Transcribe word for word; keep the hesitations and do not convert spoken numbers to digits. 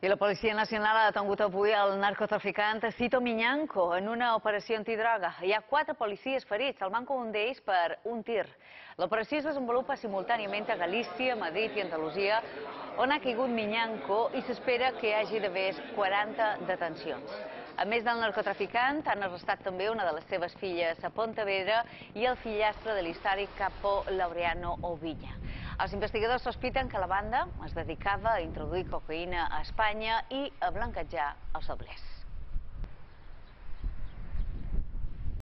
I la Policia Nacional ha detengut avui el narcotraficant Cito Miñanco en una operació antidroga. Hi ha quatre policies ferits, el manco un d'ells per un tir. L'operació es desenvolupa simultàniament a Galícia, Madrid i Andalusia, on ha caigut Miñanco i s'espera que hi hagi d'haver quaranta detencions. A més del narcotraficant, han arrestat també una de les seves filles a Pontevedra i el fillastre de l'històric capo Laureano Oviña. Els investigadors sospiten que la banda es dedicava a introduir cocaïna a Espanya i a blanquejar els doblers.